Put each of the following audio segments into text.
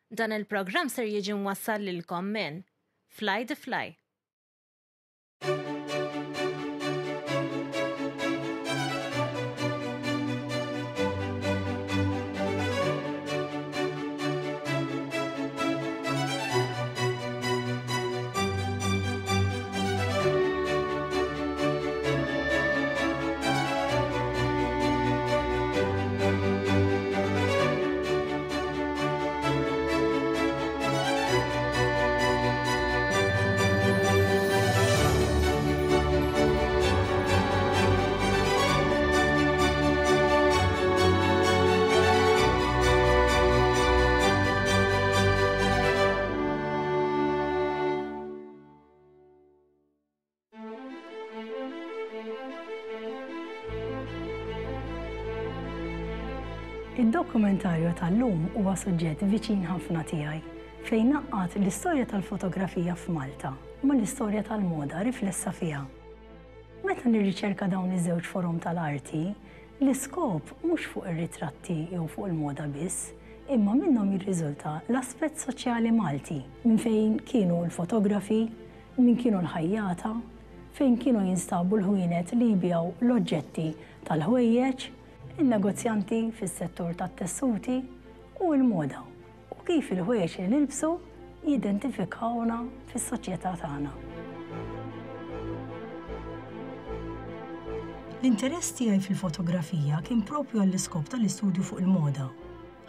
Dan il-programm ser jiġi mwassal lilkom minn Fly the Fly. Id-dokumentarju tal-lum huwa suġġett viċin ħafna tiegħi fejn ngħaqqad l-istorja tal-fotografija f'Malta mal-istorja tal-moda riflessa fiha. Meta nirriċerka dawn iż-żewġ forom tal-arti, l-iskop mhux fuq ir-ritratti jew fuq il-moda biss, imma minnhom jirriżulta l-aspett soċjali Malti, minn fejn kienu l-fotografi, min kienu l-ħajjata, fejn kienu jinstabu l-ħwienet li jbigħu l-oġġetti tal-ħwejjeġ, in-negozjanti fis-settur tat-tessuti u l-moda, u kif il-ħwejjeġ li nilbsu jidentifikawna fis-soċjetà tagħna. L-interess tiegħi fil-fotografija kien proprju għall-iskop tal-istudju fuq il-moda.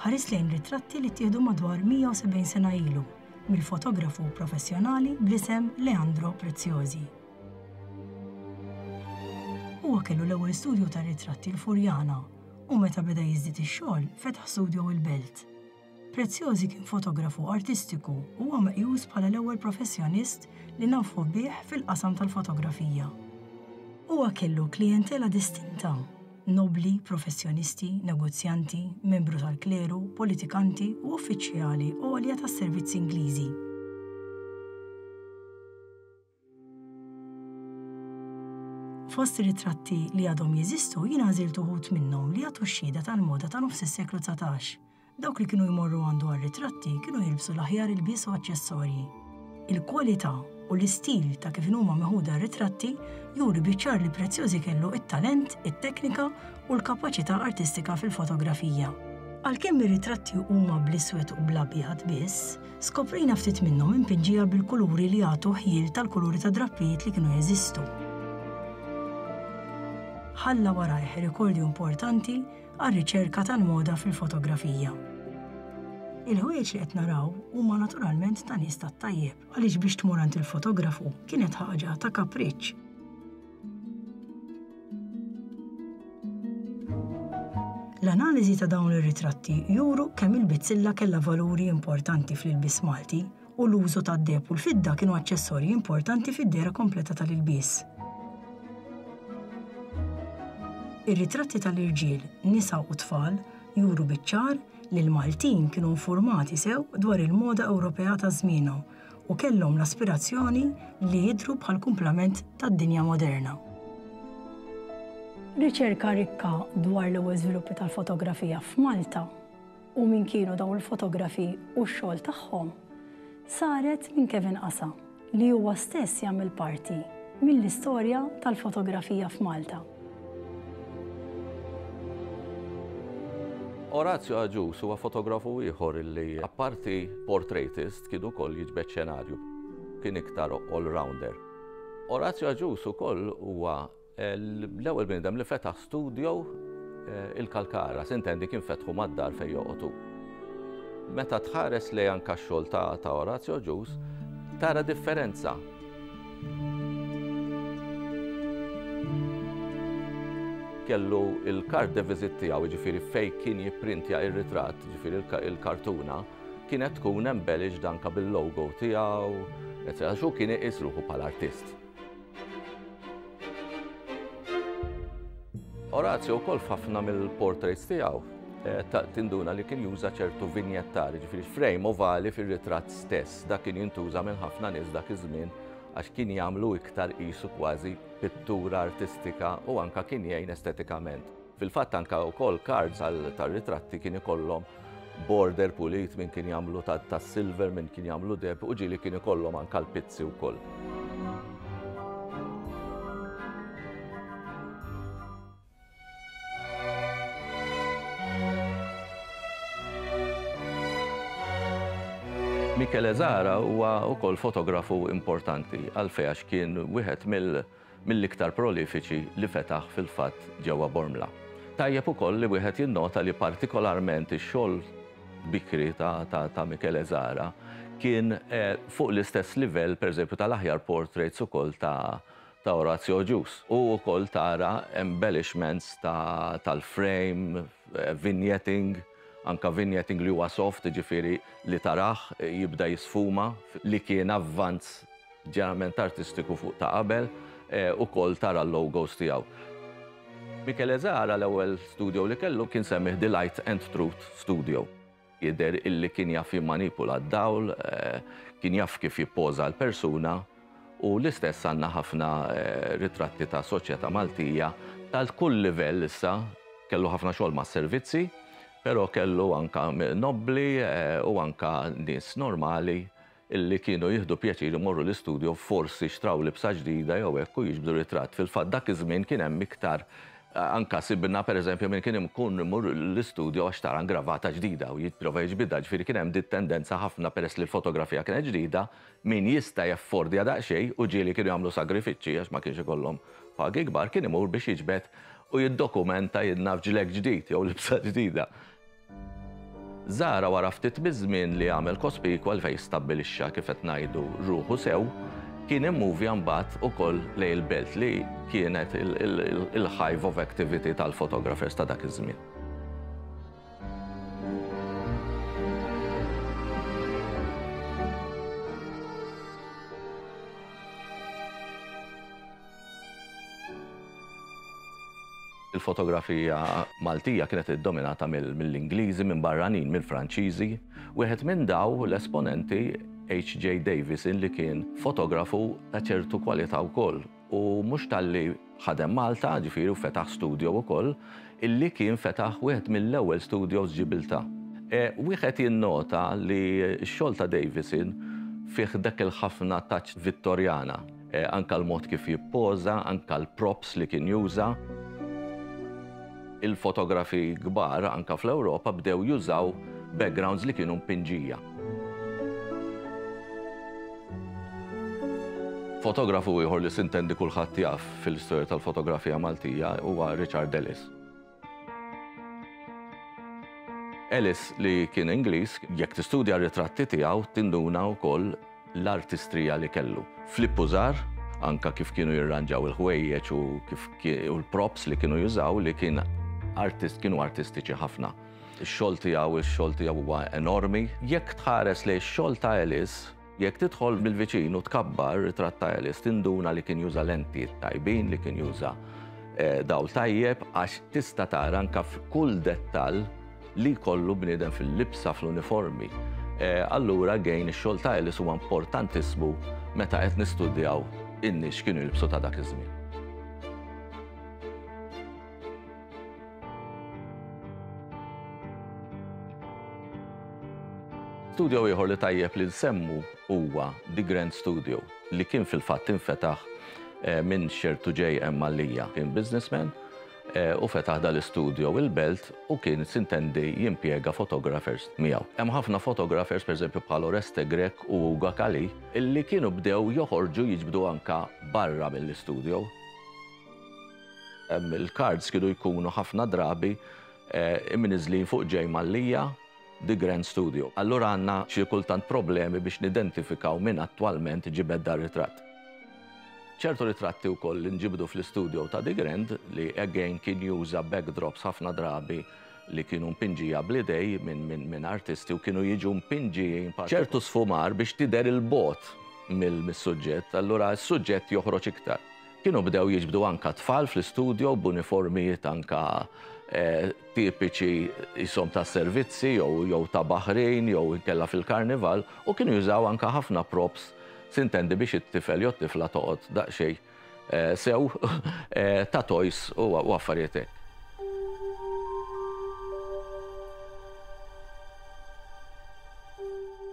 Ħarist lejn ritratti li ttieħdu madwar 170 sena ilu mill-fotografu professjonali bl-isem Leandro Preziosi. Huwa kellu l-ewwel studju tar-ritratti l-Furjana u meta beda jiżdied ix-xogħol fetaħ studjo il-Belt. Preziosi kien fotografu artistiku u huwa meqjus bħala l-ewwel professjonist li nafu bih fil-qasam tal-fotografija. Huwa kellu klijentela distinta, nobbli, professjonisti, negozjanti, membru tal-kleru, politikanti u uffiċjali għolja tas-servizzi Ingliżi. Fost ir-ritratti li għadhom jeżistu jien għażilt uħud minnhom li jagħtu xhieda tal-moda ta' nofs is-seklu 19. Dawk li kienu jmorru għandu għar-ritratti kienu jilbsu l-aħjar ilbies u aċċessorji. Il-kwalità u l-istil ta' kif inhuma meħuda r-ritratti juri biċ-ċar li Preziosi kellu t-talent, it-teknika u l-kapaċità artistika fil-fotografija. Għalkemm ir-ritratti huma bl-iswed u bl-abjad biss, Skoprejna ftit minnhom impinġija bil-kuluri li jagħtu ħjiel tal-kuluri tad-drappijiet li kienu jeżistu. Ħalla warajh rikordju importanti għar-riċerka tal-moda fil-fotografija. Il-ħwejjeġ li qed naraw huma naturalment ta' nies tat-tajjeb għaliex biex tmur għand il-fotografu kienet ħaġa ta' kapriċċ. L-analiżi ta' dawn ir-ritratti juru kemm il-bizzilla kellha valuri importanti fl-ilbies Malti u l-użu tad-deheb u l-fidda kienu aċċessorji importanti fid-dehra kompleta tal-ilbies. Ir-ritratti tal-irġiel, nisa u tfal juru biċ-ċar li l-Maltin kienu infurmati sew dwar il-moda Ewropea ta' żmienhom u kellhom l-aspirazzjoni li jidhru bħall-kumplament tad-dinja moderna. Riċerka rikka dwar l-ewwel żviluppi tal-fotografija f'Malta u min kienu dawn il-fotografi u x-xogħol tagħhom saret minn Kevin Qasa li huwa stess jagħmel parti mill-istorja tal-fotografija f'Malta. Orazio Agius huwa fotografu ieħor li apparti portraitist kien ukoll jiġbed xenarju. Kien iktar all-rounder. Orazio Agius ukoll huwa l-ewwel bniedem li fetaħ studio eh, il-Kalkara, sintendi kien fetħu mad-dar fejn joqogħdu. Meta tħares lejn anka x-xogħol ta', ta Orazio Agius, tara differenza Kellu il-carte de visite tiegħu, jiġifieri fejn kien jipprintja ir-ritratt, jiġifieri il-kartuna, kienet tkun embellished anka bil-logo tiegħu, eċetera, għax hu kien iqis ruħu bħala artist. Orazio wkoll f'ħafna mill-portraits tiegħu eh, tinduna li kien juża ċertu vinjettar, ġifieri frame ovali fir-ritratt stess. Dak kien jintuża minn ħafna nies dak iż-żmien għax kien jagħmlu iktar qisu kważi pittura artistika u anka kien jgħin estetikament. Fil-fatt anka wkoll cards tar-ritratti kien ikollhom border pulit, min kien jagħmlu tas-silver, min kien jagħmlu deheb u ġieli kien ikollhom anke l-pizzi wkoll. Michele Zara huwa wkoll fotografu importanti għalfejn għax kien wieħed mill-iktar prolifiċi li fetaħ fil-fatt ġewwa Bormla. Tajjeb ukoll li wieħed jinnota li partikolarment ix-xogħol bikri ta' Michele Zara kien fuq l-istess livell pereżempju tal-aħjar portraits ukoll ta' ta' Orazio Agius u wkoll tara embellishments tal-frame, vignetting, anke vignetting li huwa soft, jiġifieri li tarah jibda jisfuma, li kien avvanz ġeneralment artistiku fuq ta' qabel, ukoll tara l-logos tiegħu. Michele Zahra l-ewwel studio li kellu kien semmih The Light and Truth Studio. Jidher illi kien jaf jimmanipula d-dawl, kien jaf kif jippoża l-persuna u l-istess għandna ħafna ritratti ta' soċjetà Maltija tal-kull livell issa, kellu ħafna xogħol mas-servizzi, però kellu anke nobbli u anke nies normali illi kienu jieħdu pjaċir imorru l-istudio forsi xtraw libsa ġdida jew hekk u jiġbdu ritratt. Fil-fatt dak iż-żmien kien hemm iktar anka sibna pereżempju min kien ikun imur l-istudio għax tara ngravata ġdida u jipprova jiġbidha, ġifieri kien hemm dit-tendenza ħafna peress li l-fotografija kienet ġdida, min jista' jaffordja daqsxejn u ġieli kienu jagħmlu sagrifiċċji għax ma kienx ikollhom pagi kbar, kien imur biex jiġbed u jiddokumenta jien naf ġlekk ġdid jew libsa ġdida. Zara wara ftit miż-żmien li għamel Cospicua li fejn stabbilixxa kif qed ngħidu ruħu sew, kien immuvja mbagħad ukoll lejn il-belt li kienet il-hive of activity tal-photographers ta' dak iż-żmien. Il-fotografija Maltija kienet iddominata mill-Ingliżi, minn barranin, mill-Franċiżi. Wieħed minn daw l-esponenti H.J. Davison li kien fotografu ta' ċertu kwalità wkoll u mhux talli ħadem Malta, ġifieri u fetaħ studio wkoll, illi kien fetaħ wieħed mill-ewwel studios Ġibiltà. Wieħed jinnota li x-xogħol ta' Davison fih dak il-ħafna touch Vittorjana. Anke l-mod kif jippoża, anke l-props li kien juża. Il-fotografi kbar anke fl-Ewropa bdew jużaw backgrounds li kienu mpinġija. Fotografu ieħor li sintendi kulħadd jaf fil-istorja tal-fotografija Maltija huwa Richard Ellis. Ellis li kien Ingliż, jekk tistudja r-ritratti tiegħu tinduna wkoll l-artistrija li kellu. Fl-ippużar, anke kif kienu jirranġaw il-ħwejjeġ u kif u l-props li kienu jużaw li kien artist kienu artistiċi ħafna. Ix-xogħol tiegħu ix-xogħol tiegħu huwa enormi. Jekk tħares lejn ix-xogħol ta' Ellis, jekk tidħol mill-viċin u tkabbar ritratt ta' Ellis tinduna li kien juża lentijiet tajbin, li kien juża dawl tajjeb għax tista' tara anke f'kull dettall li jkollu bniedem fil-libsa, fl-uniformi. Allura again ix-xogħol ta' Ellis huwa importantissimu meta qed nistudjaw in-nies x'kienu jilbsu ta' dak iż-żmien. Studio ieħor li tajjeb li nsemmu huwa The Grand Studio li kien fil-fatt infetaħ minn ċertu J.M. Mallia, kien businessman, u fetaħ dal-istudio il-Belt u kien sintendi jimpjega photographers miegħu. Hemm ħafna photographers, pereżempju bħal Oreste Grech u Ugo Calì, illi kienu bdew joħorġu jiġbdu anka barra mill-istudio. Il-cards kienu jkunu ħafna drabi imniżżlin fuq J Mallia, The Grand Studio. Allura għandna xi kultant problemi biex nidentifikaw min attwalment ġibed dar-ritratt. Ċertu ritratti wkoll li nġibdu fl-istudio ta' The Grand li again kien juża backdrops ħafna drabi li kienu mpinġija bl-idej minn min, min artisti u kienu jiġu mpinġijin ċertu sfumar biex tidher il-bogħod mill-suġġett, allura s-suġġett joħroġ iktar. Kienu bdew jiġbdu anka tfal fl-istudio b'uniformijiet anka tipiċi qishom tas-servizzi jew jew ta' baħrin jew inkella fil-karnival u kienu jużaw anka ħafna props sintendi biex it-tifel jew t-tifla toqgħod daqsxejn sew ta' toys u affarijiet hekk.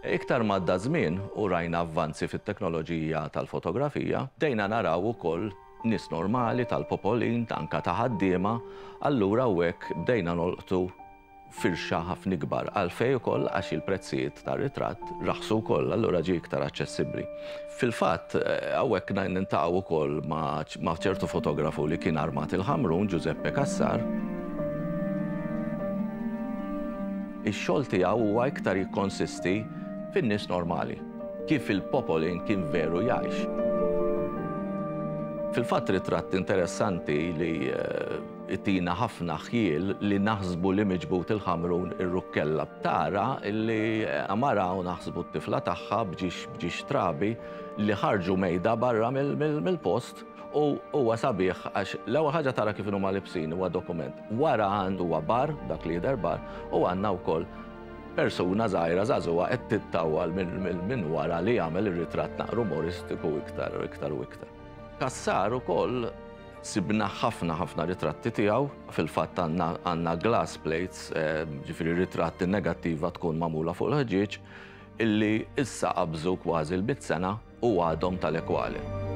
Iktar m'għadda żmien u rajna avvanzi fit-teknoloġija tal-fotografija, bdejna naraw ukoll nies normali tal-popolin, anka ta' ħaddiema, allura hawnhekk bdejna nolqtu firxa ħafna ikbar. Għalfejn ukoll għax il-prezzijiet tar-ritratt raħsu wkoll, allura ġie iktar aċċessibbli. Fil-fatt, hawnhekk niltaqgħu wkoll ma' ċertu fotografu li kien armat il-Ħamrun, Giuseppe Cassar. Ix-xogħol tiegħu huwa iktar jikkonsisti fin-nies normali, kif il-popolin kien veru jgħix. Fil-fatt ritratt interessanti li Itina ħafna ħjiel li naħsbu li miġbud il-Ħamrun ir-Rukkella. Tara li mara u naħsbu t-tifla tagħha b'ġiex b'ġiex trabi li ħarġu mejda barra mill-post u huwa sabiħ għax l-ewwel ħaġa tara kif inhuma libsin huwa dokument. Wara għandu huwa bar, dak li jidher bar, u għandna wkoll persuna żgħira żagħżugħa qed tittawwal minn wara li jagħmel ir-ritratt naqra umoristiku iktar iktar u iktar. Cassar ukoll Sibna ħafna ħafna ritratti tiegħu, fil-fatt għandna għandna glass plates, ġifieri ritratti negattiva tkun magħmula fuq il-ħġieġ, illi issa qabżu kważi l-mitt sena u għadhom tal-ekwali.